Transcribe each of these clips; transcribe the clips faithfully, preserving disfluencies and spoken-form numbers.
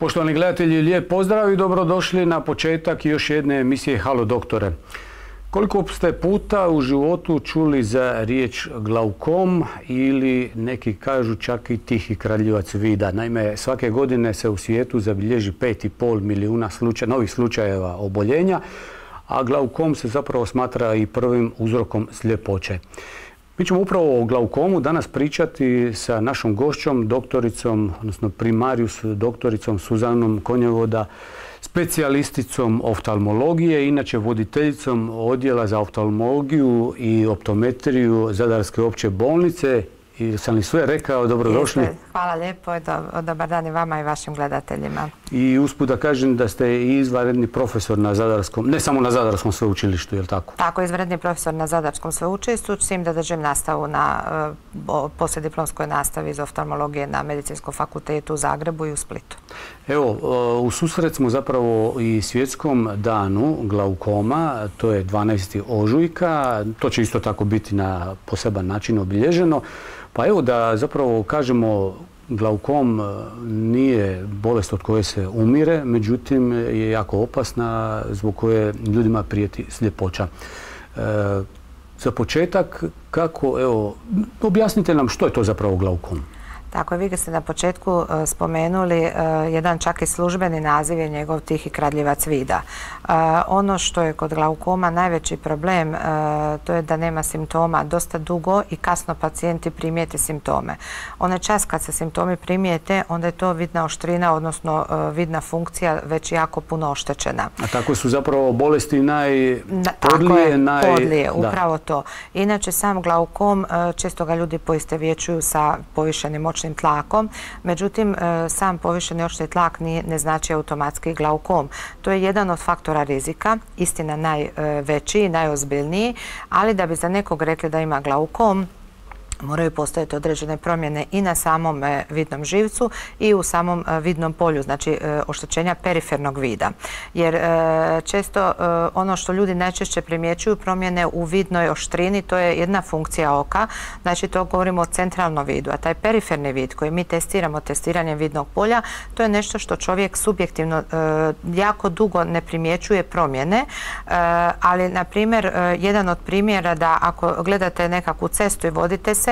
Poštovani gledatelji, lijep pozdrav i dobrodošli na početak još jedne emisije Halo doktore. Koliko ste puta u životu čuli za riječ glaukom ili neki kažu čak i tihi kradljivac vida? Naime, svake godine se u svijetu zabilježi pet i pol milijuna slučaja, novih slučajeva oboljenja, a glaukom se zapravo smatra i prvim uzrokom sljepoće. Mi ćemo upravo o glaukomu danas pričati sa našom gošćom, doktoricom, odnosno primarius doktoricom Suzanom Konjevoda, specijalisticom oftalmologije, inače voditeljicom odjela za oftalmologiju i optometriju Zadarske opće bolnice. I sam li sve rekao, dobrodošli. Jeste. Hvala lijepo, dobar dan i vama i vašim gledateljima. I usput da kažem da ste i izvanredni profesor na Zadarskom, ne samo na Zadarskom sveučilištu, je li tako? Tako, izvanredni profesor na Zadarskom sveučilištu, s tim da držim nastavu na poslijediplomskoj nastavi iz oftalmologije na Medicinskom fakultetu u Zagrebu i u Splitu. Evo, u susret smo zapravo i svjetskom danu glaukoma, to je dvanaesti ožujka, to će isto tako biti na poseban način obilježeno. Pa evo da zapravo kažemo, glaukom nije bolest od koje se umire, međutim je jako opasna zbog koje ljudima prijeti sljepoća. E, za početak, kako, evo, objasnite nam što je to zapravo glaukom? Tako je, vi ste na početku uh, spomenuli, uh, jedan čak i službeni naziv je njegov tihi kradljivac vida. Uh, ono što je kod glaukoma najveći problem, uh, to je da nema simptoma dosta dugo i kasno pacijenti primijete simptome. Onaj čas kad se simptomi primijete, onda je to vidna oštrina, odnosno uh, vidna funkcija već jako puno oštećena. A tako su zapravo bolesti najpodlije? Naj... Podlije, upravo to. Inače, sam glaukom, uh, često ga ljudi poistovjećuju sa povišenim očnim tlakom, međutim sam povišeni očni tlak ne znači automatski glaukom. To je jedan od faktora rizika, istina najveći i najozbiljniji, ali da bi za nekog rekli da ima glaukom, moraju postojati određene promjene i na samom vidnom živcu i u samom vidnom polju, znači oštećenja perifernog vida. Jer često ono što ljudi najčešće primjećuju, promjene u vidnoj oštrini, to je jedna funkcija oka, znači to govorimo o centralnom vidu, a taj periferni vid koji mi testiramo testiranjem vidnog polja, to je nešto što čovjek subjektivno jako dugo ne primjećuje promjene, ali na primjer jedan od primjera da ako gledate nekakvu cestu i vodite se,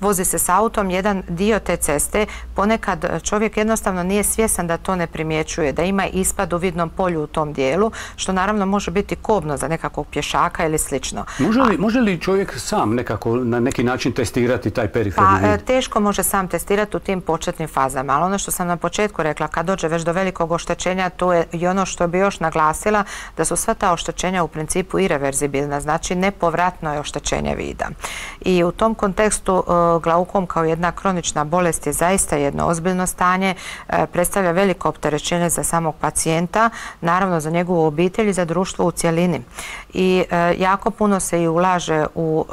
vozi se s autom, jedan dio te ceste, ponekad čovjek jednostavno nije svjestan da to ne primjećuje, da ima ispad u vidnom polju u tom dijelu, što naravno može biti kobno za nekakvog pješaka ili slično. Može li, može li čovjek sam nekako na neki način testirati taj periferni vid? Pa teško može sam testirati u tim početnim fazama, ali ono što sam na početku rekla, kad dođe već do velikog oštećenja, to je i ono što bi još naglasila, da su sva ta oštećenja u principu ireverzibilna, znači nepovratno je oštećenje vida. I u tom kontekstu glaukom kao jedna kronična bolest je zaista jedno ozbiljno stanje, predstavlja veliko opterećenje za samog pacijenta, naravno za njegovu obitelj i za društvo u cjelini. I jako puno se i ulaže u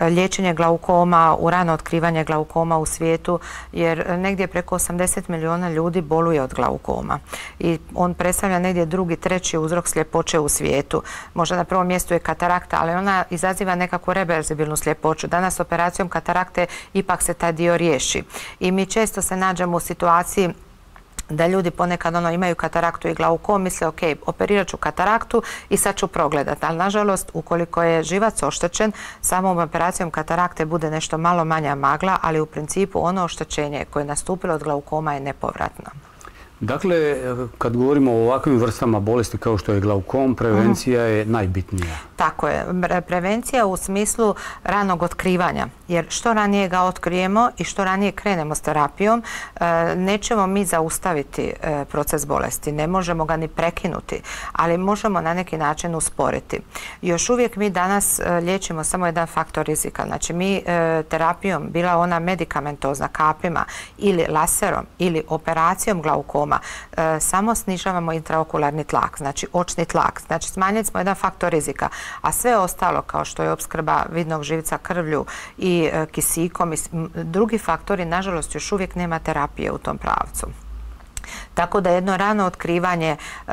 liječenje glaukoma, u rano otkrivanje glaukoma u svijetu, jer negdje preko osamdeset milijuna ljudi boluje od glaukoma. I on predstavlja negdje drugi, treći uzrok sljepoće u svijetu. Možda na prvom mjestu je katarakta, ali ona izaziva nekakvu reverzibilnu sljepoću. Danas operacijom katarakte ipak se taj dio riješi. I mi često se nađemo u situaciji da ljudi ponekad ono, imaju kataraktu i glaukom, misle ok, operirat ću kataraktu i sad ću progledati. Ali nažalost, ukoliko je živac oštećen, samom operacijom katarakte bude nešto malo manja magla, ali u principu ono oštećenje koje je nastupilo od glaukoma je nepovratno. Dakle, kad govorimo o ovakvim vrstama bolesti kao što je glaukom, prevencija je najbitnija. Tako je. Prevencija u smislu ranog otkrivanja. Jer što ranije ga otkrijemo i što ranije krenemo s terapijom, nećemo mi zaustaviti proces bolesti. Ne možemo ga ni prekinuti, ali možemo na neki način usporiti. Još uvijek mi danas liječimo samo jedan faktor rizika. Znači mi terapijom, bila ona medikamentozna kapima ili laserom ili operacijom glaukoma, samo snižavamo intraokularni tlak, znači očni tlak. Znači smanjili smo jedan faktor rizika, a sve ostalo kao što je opskrba vidnog živca krvlju i kisikom i drugi faktori, nažalost još uvijek nema terapije u tom pravcu. Tako da jedno rano otkrivanje e,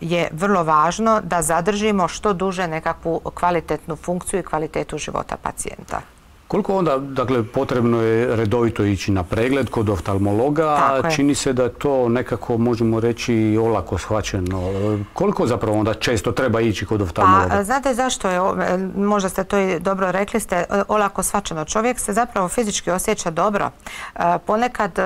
je vrlo važno da zadržimo što duže nekakvu kvalitetnu funkciju i kvalitetu života pacijenta. Koliko onda, dakle, potrebno je redovito ići na pregled kod oftalmologa, a čini se da to nekako, možemo reći, olako shvaćeno. Koliko zapravo onda često treba ići kod oftalmologa? Pa, znate zašto je, možda ste to i dobro rekli, ste olako shvaćeno. Čovjek se zapravo fizički osjeća dobro. Ponekad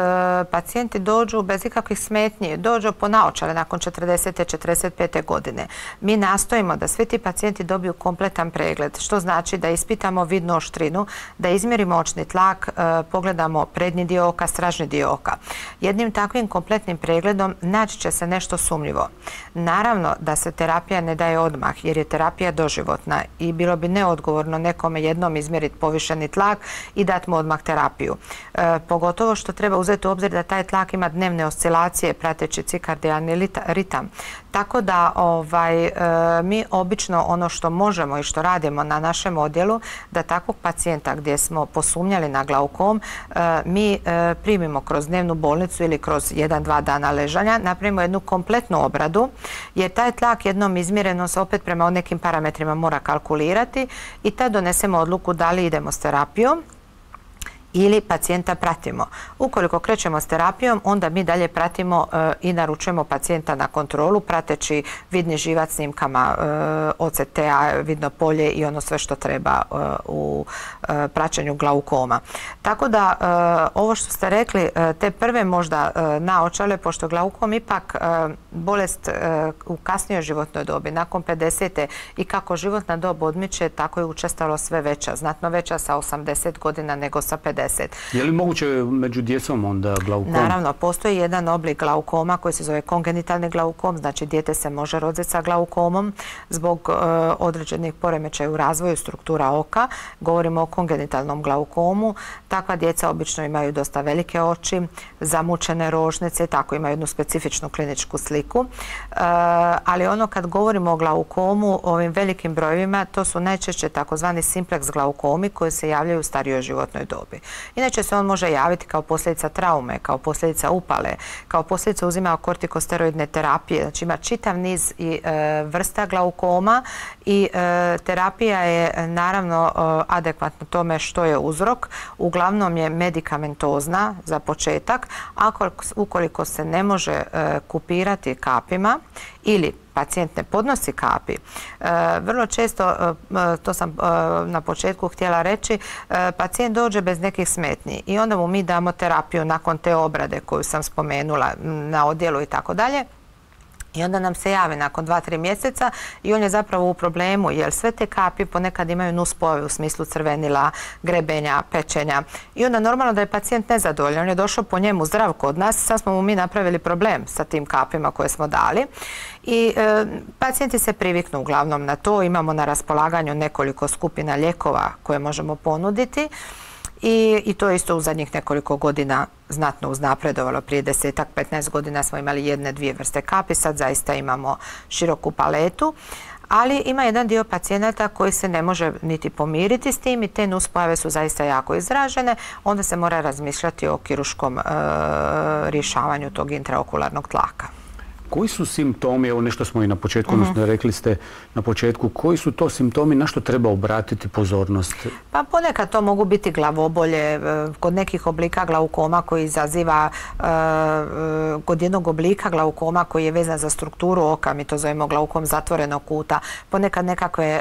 pacijenti dođu bez ikakvih smetnji, dođu po naočale nakon četrdesete, četrdeset pete godine. Mi nastojimo da svi ti pacijenti dobiju kompletan pregled, što znači da ispitamo vidnu oštrinu, da izmjerimo očni tlak, pogledamo prednji dio oka, stražni dio oka. Jednim takvim kompletnim pregledom naći će se nešto sumnjivo. Naravno da se terapija ne daje odmah jer je terapija doživotna i bilo bi neodgovorno nekome jednom izmjeriti povišeni tlak i dati mu odmah terapiju. E, pogotovo što treba uzeti u obzir da taj tlak ima dnevne oscilacije prateći cikardijalni ritam. Tako da ovaj, e, mi obično ono što možemo i što radimo na našem odjelu, da takvog pacijenta gdje smo posumnjali na glaukom, e, mi e, primimo kroz dnevnu bolnicu ili kroz jedan, dva dana ležanja, napravimo jednu kompletnu obradu, jer taj tlak jednom izmjereno se opet prema nekim parametrima mora kalkulirati i tad donesemo odluku da li idemo s terapijom ili pacijenta pratimo. Ukoliko krećemo s terapijom, onda mi dalje pratimo e, i naručujemo pacijenta na kontrolu, prateći vidni živac snimkama e, O C T-a, vidno polje i ono sve što treba e, u e, praćenju glaukoma. Tako da, e, ovo što ste rekli, e, te prve možda e, naočale, pošto glaukom ipak e, bolest e, u kasnijoj životnoj dobi, nakon pedesete i kako životna dob odmiče, tako je učestalo sve veća, znatno veća sa osamdeset godina nego sa pedeset. Je li moguće među djecom onda glaukom? Naravno, postoji jedan oblik glaukoma koji se zove kongenitalni glaukom, znači dijete se može roditi sa glaukomom zbog e, određenih poremećaja u razvoju struktura oka. Govorimo o kongenitalnom glaukomu. Takva djeca obično imaju dosta velike oči, zamučene rožnice, tako imaju jednu specifičnu kliničku sliku. E, ali ono kad govorimo o glaukomu, ovim velikim brojevima, to su najčešće takozvani simplex glaukomi koji se javljaju u starijoj životnoj dobi. Inače se on može javiti kao posljedica traume, kao posljedica upale, kao posljedica uzimanja kortikosteroidne terapije. Znači ima čitav niz i e, vrsta glaukoma i e, terapija je naravno e, adekvatna tome što je uzrok. Uglavnom je medikamentozna za početak, a ukoliko se ne može e, kupirati kapima ili pacijent ne podnosi kapi. E, vrlo često, e, to sam e, na početku htjela reći, e, pacijent dođe bez nekih smetnji i onda mu mi damo terapiju nakon te obrade koju sam spomenula na odjelu i tako dalje. I onda nam se javi nakon dva, tri mjeseca i on je zapravo u problemu jer sve te kapi ponekad imaju nuspojave u smislu crvenila, grebenja, pečenja. I onda normalno da je pacijent nezadovoljan. On je došao po njemu zdrav kod nas, sad smo mu mi napravili problem sa tim kapima koje smo dali. I e, pacijenti se priviknu uglavnom na to. Imamo na raspolaganju nekoliko skupina lijekova koje možemo ponuditi. I, i to je isto u zadnjih nekoliko godina znatno uznapredovalo. Prije desetak, petnaest godina smo imali jedne, dvije vrste kapi, sad zaista imamo široku paletu. Ali ima jedan dio pacijenata koji se ne može niti pomiriti s tim i te nuspojave su zaista jako izražene. Onda se mora razmišljati o kirurškom e, rješavanju tog intraokularnog tlaka. Koji su simptomi, evo nešto smo i na početku, odnosno uh-huh. rekli ste na početku, koji su to simptomi, na što treba obratiti pozornost? Pa ponekad to mogu biti glavobolje, kod nekih oblika glaukoma koji izaziva, kod jednog oblika glaukoma koji je vezan za strukturu oka, mi to zovemo glaukom zatvorenog kuta, ponekad nekakve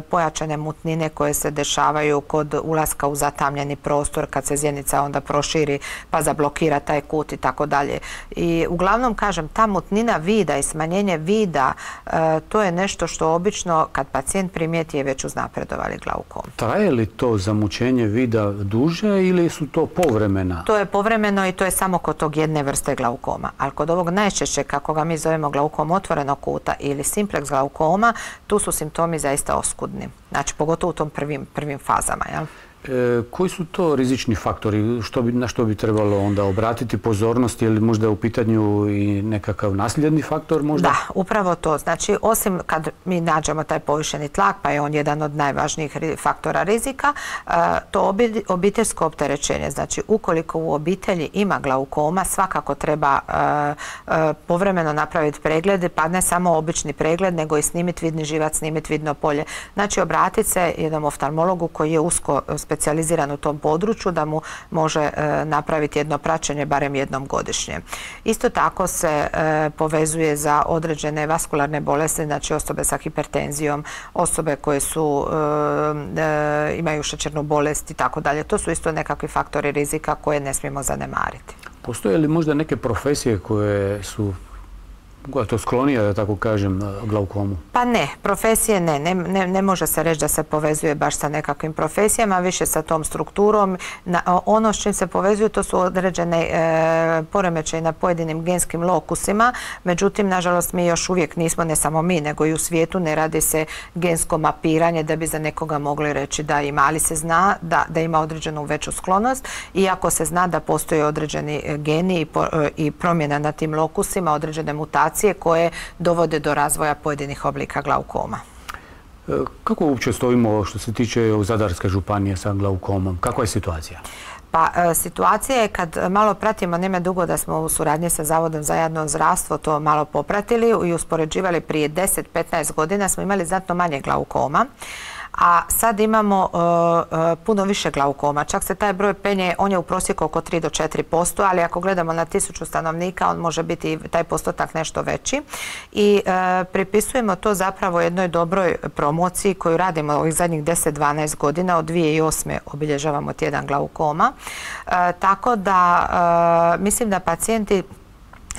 pojačane mutnine koje se dešavaju kod ulaska u zatamljeni prostor, kad se zjenica onda proširi pa zablokira taj kut i tako dalje. I uglavnom, kažem, ta mutnina vida i smanjenje vida, e, to je nešto što obično kad pacijent primijeti je već uznapredovali glaukom. Traje li to zamućenje vida duže ili su to povremena? To je povremeno i to je samo kod tog jedne vrste glaukoma. Ali kod ovog najčešće, kako ga mi zovemo glaukom otvorenog kuta ili simplex glaukoma, tu su simptomi zaista oskudni. Znači, pogotovo u tom prvim, prvim fazama. Jel? E, koji su to rizični faktori? Što bi, na što bi trebalo onda obratiti pozornost? Je li možda u pitanju i nekakav nasljedni faktor možda? Da, upravo to. Znači, osim kad mi nađemo taj povišeni tlak, pa je on jedan od najvažnijih faktora rizika, to obiteljsko opterećenje. Znači, ukoliko u obitelji ima glaukoma, svakako treba povremeno napraviti preglede, pa ne samo obični pregled, nego i snimiti vidni živac, snimiti vidno polje. Znači, obratiti se jednom oftalmologu koji je usko specijaliziran specijaliziran u tom području da mu može napraviti jedno praćenje barem jednom godišnje. Isto tako se povezuje za određene vaskularne bolesti, znači osobe sa hipertenzijom, osobe koje su, imaju šećernu bolest i tako dalje. To su isto nekakvi faktori rizika koje ne smijemo zanemariti. Postoje li možda neke profesije koje su koja to sklonija, da tako kažem, glaukomu? Pa ne, profesije ne. Ne, ne, ne može se reći da se povezuje baš sa nekakvim profesijama, više sa tom strukturom. Na, ono s čim se povezuju to su određene e, poremećaje na pojedinim genskim lokusima. Međutim, nažalost, mi još uvijek nismo, ne samo mi, nego i u svijetu ne radi se gensko mapiranje da bi za nekoga mogli reći da ima, ali se zna da, da ima određenu veću sklonost, iako se zna da postoje određeni geni i, po, i promjena na tim lokusima, određene mutacije koje dovode do razvoja pojedinih oblika glaukoma. Kako uopće stojimo što se tiče Zadarske županije sa glaukomom? Kakva je situacija? Pa situacija je kad malo pratimo, nema dugo da smo u suradnji sa Zavodom za javno zdravstvo to malo popratili i uspoređivali prije deset do petnaest godina smo imali znatno manje glaukoma. A sad imamo uh, uh, puno više glaukoma. Čak se taj broj penje, on je u prosjeku oko tri do četiri posto, ali ako gledamo na tisuću stanovnika, on može biti taj postotak nešto veći. I uh, pripisujemo to zapravo jednoj dobroj promociji koju radimo ovih zadnjih deset do dvanaest godina. Od dvije tisuće osme obilježavamo tjedan glaukoma. Uh, tako da uh, mislim da pacijenti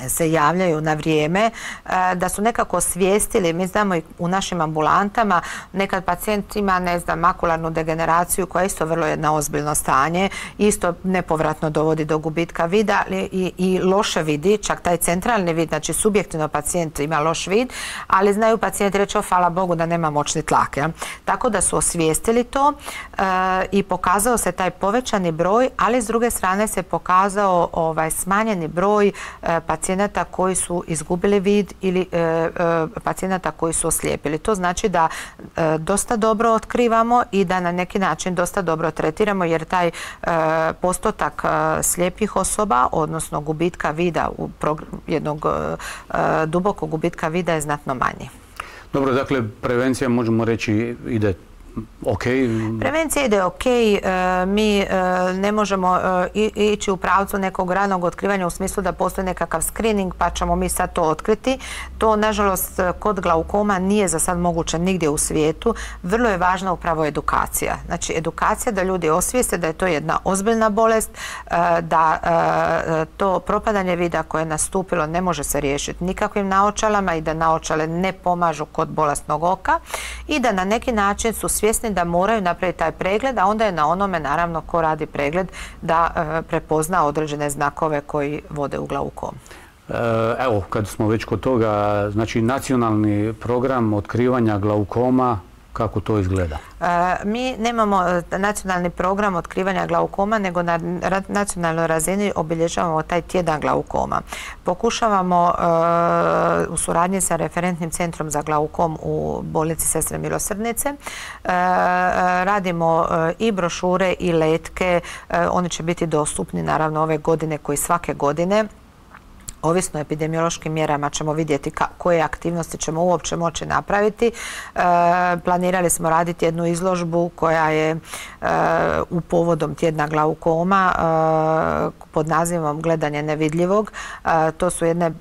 se javljaju na vrijeme, da su nekako osvijestili. Mi znamo i u našim ambulantama, nekad pacijent ima, ne znam, makularnu degeneraciju koja je isto vrlo jedno ozbiljno stanje, isto nepovratno dovodi do gubitka vida i, i loše vidi, čak taj centralni vid, znači subjektivno pacijent ima loš vid, ali znaju pacijenti reći, o, hvala Bogu da nema moćni tlak. Ja? Tako da su osvijestili to e, i pokazao se taj povećani broj, ali s druge strane se pokazao ovaj, smanjeni broj e, pacijenta pacijenata koji su izgubili vid ili e, e, pacijenata koji su oslijepili. To znači da e, dosta dobro otkrivamo i da na neki način dosta dobro tretiramo, jer taj e, postotak e, slijepih osoba, odnosno gubitka vida, u jednog e, dubokog gubitka vida je znatno manji. Dobro, dakle, prevencija možemo reći ide ok. Prevencija ide ok. Mi ne možemo ići u pravcu nekog ranog otkrivanja u smislu da postoji nekakav screening pa ćemo mi sad to otkriti. To, nažalost, kod glaukoma nije za sad moguće nigdje u svijetu. Vrlo je važna upravo edukacija. Znači, edukacija da ljudi osvijeste da je to jedna ozbiljna bolest, da to propadanje vida koje je nastupilo ne može se riješiti nikakvim naočalama i da naočale ne pomažu kod bolesnog oka i da na neki način su svjesni da moraju napraviti taj pregled, a onda je na onome, naravno, ko radi pregled da e, prepozna određene znakove koji vode u glaukom. Evo, kad smo već kod toga, znači nacionalni program otkrivanja glaukoma, kako to izgleda? E, mi nemamo nacionalni program otkrivanja glaukoma, nego na nacionalnoj razini obilježavamo taj tjedan glaukoma. Pokušavamo e, u suradnji sa referentnim centrom za glaukom u bolnici Sestre Milosrdnice. E, radimo e, i brošure i letke. E, oni će biti dostupni naravno ove godine koji svake godine. Ovisno o epidemiološkim mjerama ćemo vidjeti koje aktivnosti ćemo uopće moći napraviti. E, planirali smo raditi jednu izložbu koja je e, u povodom tjedna glaukoma e, pod nazivom Gledanje nevidljivog. E, to su jedne e,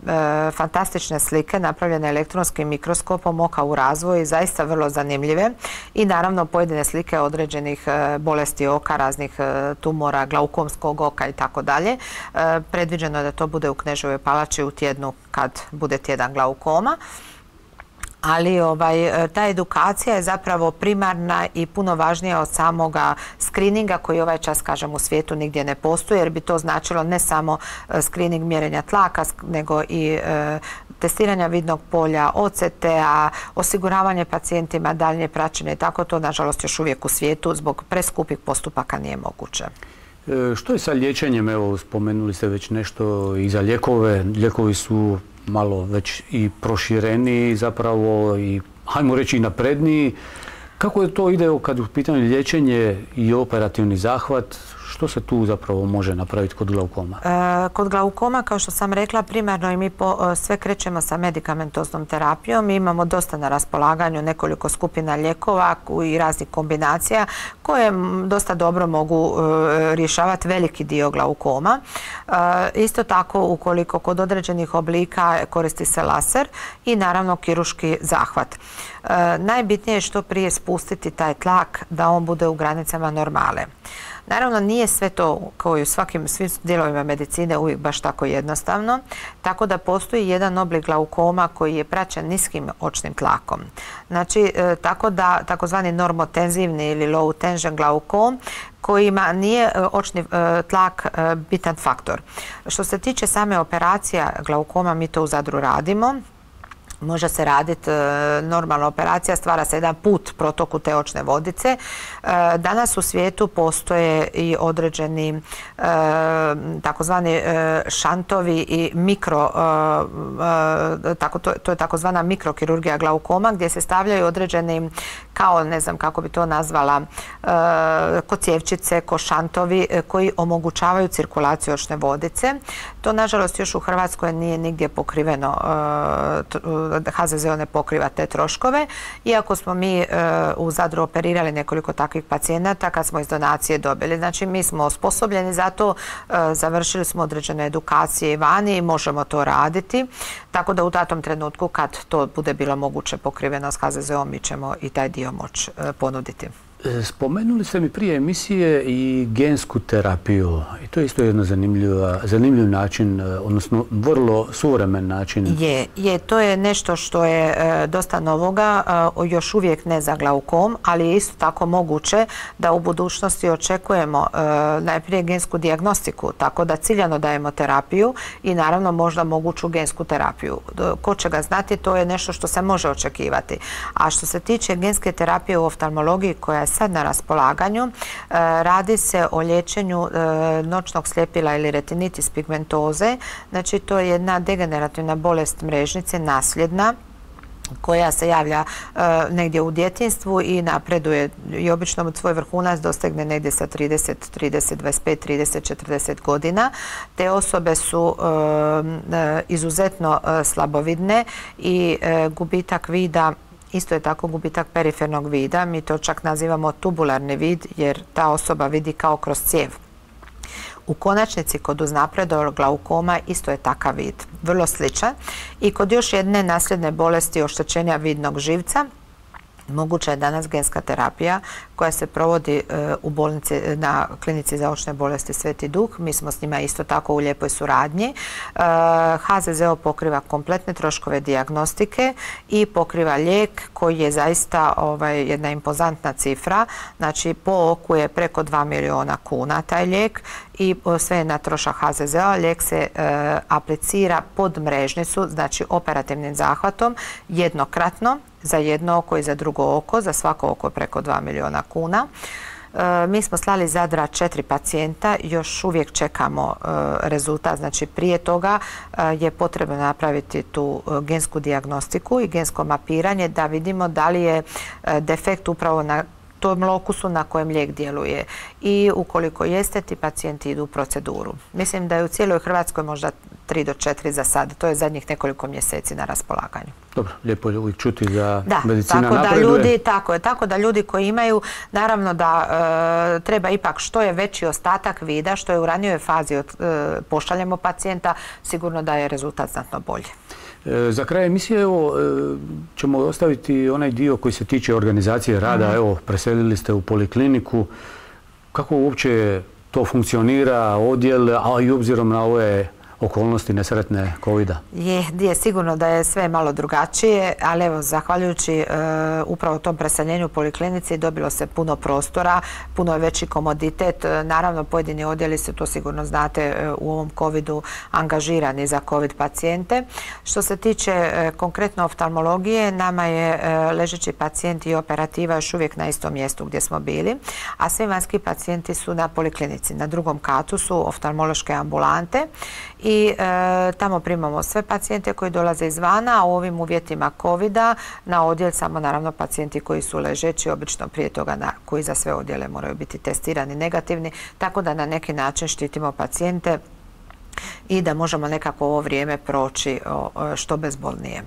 fantastične slike napravljene elektronskim mikroskopom oka u razvoju i zaista vrlo zanimljive. I naravno pojedine slike određenih e, bolesti oka, raznih e, tumora, glaukomskog oka i tako dalje. Predviđeno je da to bude u Kneževoj palači u tjednu kad bude tjedan glaukoma. Ali ovaj, ta edukacija je zapravo primarna i puno važnija od samoga skrininga koji ovaj čas, kažem, u svijetu nigdje ne postoji, jer bi to značilo ne samo skrining mjerenja tlaka, nego i e, testiranja vidnog polja, O C T-a, osiguravanje pacijentima, daljnje praćenje i tako. To, nažalost, još uvijek u svijetu zbog preskupih postupaka nije moguće. Što je sa liječenjem? Evo, spomenuli ste već nešto i za lijekove. Lijekovi su malo već i prošireniji zapravo i, hajmo reći, i napredniji. Kako je to ide kad u pitanju liječenje i operativni zahvat? što se tu zapravo može napraviti kod glaukoma? E, kod glaukoma, kao što sam rekla, primarno i mi po, sve krećemo sa medikamentoznom terapijom. Mi imamo dosta na raspolaganju nekoliko skupina lijekova i raznih kombinacija koje dosta dobro mogu e, rješavati veliki dio glaukoma. E, isto tako, ukoliko kod određenih oblika koristi se laser i naravno kirurški zahvat. E, najbitnije je što prije spustiti taj tlak da on bude u granicama normale. Naravno, nije sve to, kao i u svakim svim dijelovima medicine, uvijek baš tako jednostavno, tako da postoji jedan oblik glaukoma koji je praćen niskim očnim tlakom. Znači, e, tako da takozvani normotenzivni ili low tension glaukom kojima nije očni e, tlak e, bitan faktor. Što se tiče same operacija glaukoma, mi to u Zadru radimo. Može se raditi e, normalna operacija, stvara se jedan put protoku te očne vodice. E, danas u svijetu postoje i određeni e, takozvani e, šantovi i mikro, e, tako, to, to je takozvana mikrokirurgija glaukoma gdje se stavljaju određeni, kao ne znam kako bi to nazvala, e, ko cjevčice, ko šantovi e, koji omogućavaju cirkulaciju očne vodice. To nažalost još u Hrvatskoj nije nigdje pokriveno, e, H Z Z O ne pokriva te troškove, iako smo mi e, u Zadru operirali nekoliko takvih pacijenata kad smo iz donacije dobili. Znači, mi smo osposobljeni za to, e, završili smo određene edukacije vani i možemo to raditi, tako da u datom trenutku kad to bude bilo moguće pokriveno s H Z Z O, mi ćemo i taj dio moći e, ponuditi. Spomenuli ste mi prije emisije i gensku terapiju i to je isto jedan zanimljiv način, odnosno vrlo suvremen način. Je, je, to je nešto što je e, dosta novoga, e, još uvijek ne za glaukom, ali je isto tako moguće da u budućnosti očekujemo e, najprije gensku dijagnostiku, tako da ciljano dajemo terapiju i naravno možda moguću gensku terapiju. Ko će ga znati, to je nešto što se može očekivati. A što se tiče genske terapije u oftalmologiji koja je sad na raspolaganju, radi se o liječenju noćnog sljepila ili retinitis pigmentoze. Znači, to je jedna degenerativna bolest mrežnice, nasljedna, koja se javlja e, negdje u djetinjstvu i napreduje i obično svoj vrhunac dostegne negdje sa trideset, trideset, dvadeset pet, trideset, četrdeset godina. Te osobe su e, e, izuzetno e, slabovidne i e, gubitak vida, isto je tako gubitak perifernog vida. Mi to čak nazivamo tubularni vid jer ta osoba vidi kao kroz cijev. U konačnici kod uznapredovog glaukoma isto je takav vid, vrlo sličan. I kod još jedne nasljedne bolesti oštećenja vidnog živca moguća je danas genska terapija koja se provodi u bolnici na klinici za očne bolesti Sveti Duh. Mi smo s njima isto tako u lijepoj suradnji. H Z Z O pokriva kompletne troškove dijagnostike i pokriva lijek koji je zaista ovaj, jedna impozantna cifra. Znači, po oku je preko dva milijuna kuna taj lijek i sve je na trošak H Z Z O. Lijek se e, aplicira pod mrežnicu, znači operativnim zahvatom, jednokratno, za jedno oko i za drugo oko, za svako oko preko dva milijuna kuna. E, mi smo slali iz Zadra četiri pacijenta, još uvijek čekamo e, rezultat. Znači, prije toga e, je potrebno napraviti tu e, gensku dijagnostiku i gensko mapiranje da vidimo da li je e, defekt upravo na tom lokusu na kojem lijek djeluje. I ukoliko jeste, ti pacijenti idu u proceduru. Mislim da je u cijeloj Hrvatskoj možda tri do četiri za sad. To je zadnjih nekoliko mjeseci na raspolaganju. Dobro, lijepo je uvijek čuti da, da medicina tako napreduje. Da ljudi, tako je, tako da ljudi koji imaju, naravno da e, treba ipak što je veći ostatak vida, što je u ranijoj fazi od, e, pošaljemo pacijenta, sigurno da je rezultat znatno bolji. E, za kraj emisije evo, e, ćemo ostaviti onaj dio koji se tiče organizacije rada. Mm. Evo, preselili ste u polikliniku. Kako uopće to funkcionira, odjel, a i obzirom na ove okolnosti nesretne kovida? Je, je sigurno da je sve malo drugačije, ali evo, zahvaljujući e, upravo tom preseljenju u poliklinici dobilo se puno prostora, puno je veći komoditet. Naravno, pojedini odjeli su, to sigurno znate, e, u ovom covidu angažirani za covid pacijente. Što se tiče e, konkretno oftalmologije, nama je e, ležeći pacijent i operativa još uvijek na istom mjestu gdje smo bili, a svi vanjski pacijenti su na poliklinici. Na drugom katu su oftalmološke ambulante i e, tamo primamo sve pacijente koji dolaze izvana, a u ovim uvjetima kovida na odjel samo naravno pacijenti koji su ležeći, obično prije toga na, koji za sve odjele moraju biti testirani negativni, tako da na neki način štitimo pacijente i da možemo nekako ovo vrijeme proći što bezbolnije.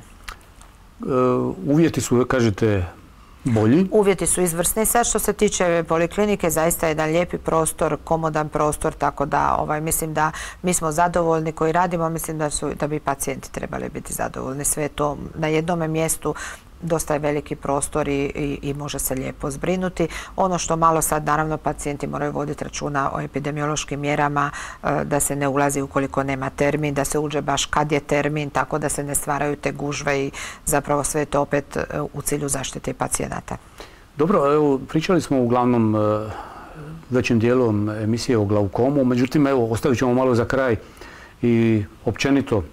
Uvjeti su, kažete, bolji? Uvjeti su izvrsni. Sad što se tiče poliklinike, zaista je jedan lijepi prostor, komodan prostor, tako da ovaj, mislim da mi smo zadovoljni koji radimo, mislim da, su, da bi pacijenti trebali biti zadovoljni. Sve to na jednom mjestu, dosta je veliki prostor i, i, i može se lijepo zbrinuti. Ono što malo sad, naravno, pacijenti moraju voditi računa o epidemiološkim mjerama, da se ne ulazi ukoliko nema termin, da se uđe baš kad je termin, tako da se ne stvaraju te gužve i zapravo sve to opet u cilju zaštite pacijenata. Dobro, evo, pričali smo uglavnom većim dijelom emisije o glaukomu, međutim, evo, ostavit ćemo malo za kraj i općenito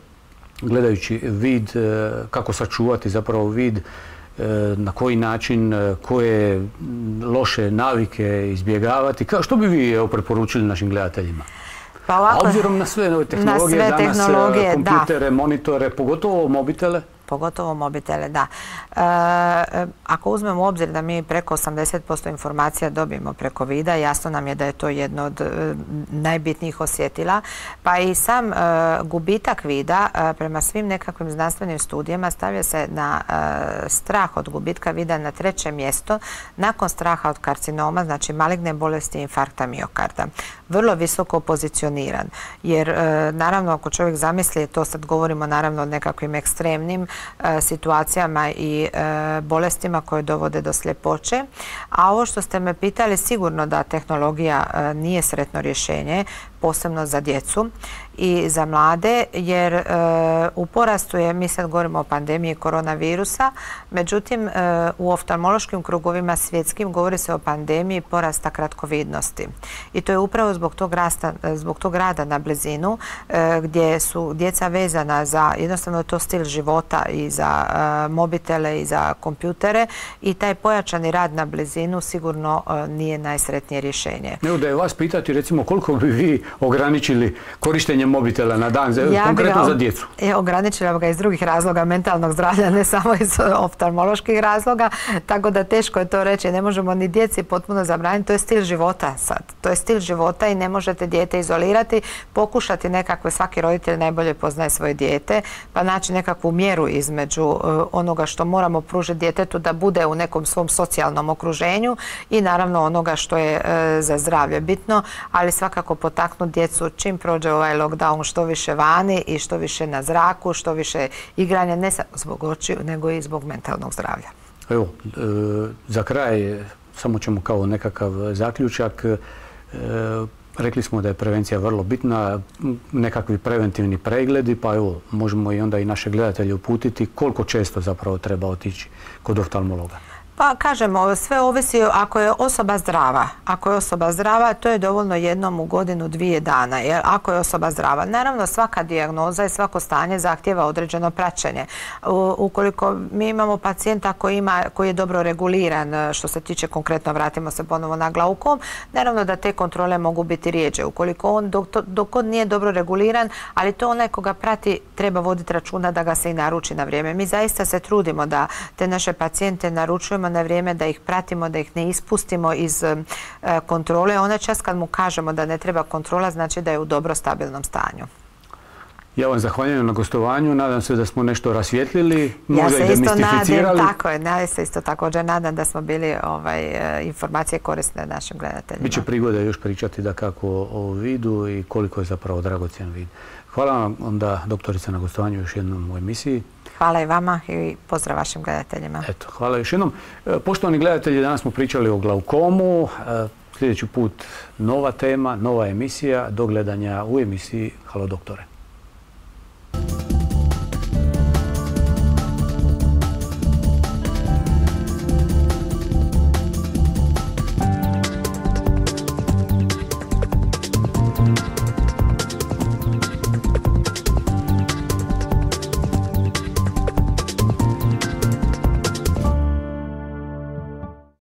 gledajući vid, kako sačuvati zapravo vid, na koji način, koje loše navike izbjegavati. Što bi vi evo, preporučili našim gledateljima? Pa ovako, a obzirom na sve nove tehnologije, na sve danas tehnologije, kompjutere, da. monitore, pogotovo mobitele? Pogotovo mobitele, da. E, ako uzmemo u obzir da mi preko osamdeset posto informacija dobijemo preko vida, jasno nam je da je to jedno od e, najbitnijih osjetila. Pa i sam e, gubitak vida e, prema svim nekakvim znanstvenim studijama stavlja se na e, strah od gubitka vida na treće mjesto nakon straha od karcinoma, znači maligne bolesti i infarkta miokarda. Vrlo visoko pozicioniran, jer e, naravno ako čovjek zamisli, to sad govorimo naravno o nekakvim ekstremnim situacijama i bolestima koje dovode do sljepoće. A ovo što ste me pitali, sigurno da tehnologija nije sretno rješenje, posebno za djecu i za mlade, jer e, u porastu je, mi sad govorimo o pandemiji koronavirusa, međutim e, u oftalmološkim krugovima svjetskim govori se o pandemiji porasta kratkovidnosti. I to je upravo zbog tog, rasta, zbog tog rada na blizinu, e, gdje su djeca vezana za jednostavno to stil života i za e, mobitele i za kompjutere, i taj pojačani rad na blizinu sigurno e, nije najsretnije rješenje. Evo da je vas pitati, recimo, koliko bi vi ograničili korištenje mobitela na dan, ja konkretno ga, za djecu? E, ograničila ga iz drugih razloga mentalnog zdravlja, ne samo iz oftalmoloških razloga, tako da teško je to reći. Ne možemo ni djeci potpuno zabraniti, to je stil života sad. To je stil života i ne možete dijete izolirati, pokušati nekakve, svaki roditelj najbolje poznaje svoje dijete, pa naći nekakvu mjeru između uh, onoga što moramo pružiti djetetu da bude u nekom svom socijalnom okruženju i naravno onoga što je uh, za zdravlje bitno, ali svakako potaknuti djecu čim prođe ovaj lockdown što više vani i što više na zraku, što više igranja, ne samo zbog očiju, nego i zbog mentalnog zdravlja. Evo, e, za kraj, samo ćemo kao nekakav zaključak. E, rekli smo da je prevencija vrlo bitna, nekakvi preventivni pregledi, pa evo, možemo i onda i naše gledatelje uputiti koliko često zapravo treba otići kod oftalmologa. Pa kažemo, sve ovisi ako je osoba zdrava. Ako je osoba zdrava, to je dovoljno jednom u godinu, dvije dana. Jer ako je osoba zdrava, naravno svaka dijagnoza i svako stanje zahtjeva određeno praćenje. U, ukoliko mi imamo pacijenta koji, ima, koji je dobro reguliran, što se tiče konkretno, vratimo se ponovo na glaukom, naravno da te kontrole mogu biti rijeđe. Ukoliko on dok, dok on nije dobro reguliran, ali to onaj koga prati treba voditi računa da ga se i naruči na vrijeme. Mi zaista se trudimo da te naše pacijente naručujemo na vrijeme, da ih pratimo, da ih ne ispustimo iz e, kontrole. Onaj čas kad mu kažemo da ne treba kontrola, znači da je u dobro stabilnom stanju. Ja vam zahvaljujem na gostovanju. Nadam se da smo nešto rasvijetlili, možda ja se i demistificirali. Nadam, tako je, ja se isto također nadam da smo bili ovaj, informacije korisne našim gledateljima. Biće prigode još pričati da kako o vidu i koliko je zapravo dragocjen vid. Hvala vam onda, doktorica, na gostovanju još jednom u emisiji. Hvala i vama i pozdrav vašim gledateljima. Eto, hvala još jednom. Poštovani gledatelji, danas smo pričali o glaukomu. Sljedeći put nova tema, nova emisija. Do gledanja u emisiji Halo doktore.